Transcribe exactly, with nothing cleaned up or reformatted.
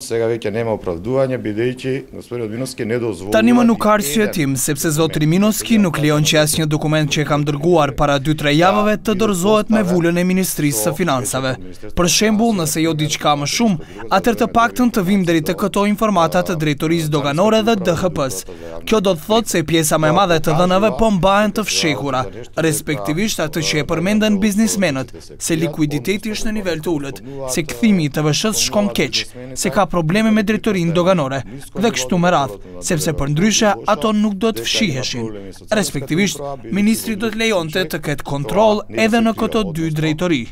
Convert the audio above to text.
Сега веќе нема оправдување бидејќи господин Одминовски не дозволува. Та нема нукарсија тим, сепсе за Одминовски нуклеонче јасниот документ чекам дргуар пара дутре јававе та дорзоhet me vulën e Ministrisë së Financave. Për shembull, nëse jo diçka më shumë, atëherë të paktën të vim deri te këto informata të drejtorisë doganore dhe D H P-s. Kjo do të thotë se pjesa më e madhe të dhënave po mbahen të fshehura, respektivisht atë që e përmenden biznismenët, se likuiditeti është në nivel të ulët, se kthimi i T V S-s shkon keq, se ka probleme me drejtorinë doganore dhe kështu me radhë, sepse përndryshe ato nuk do të fshiheshin. Respektivisht, ministri do të lejonte të ketë kontroll edhe në këto dy drejtori.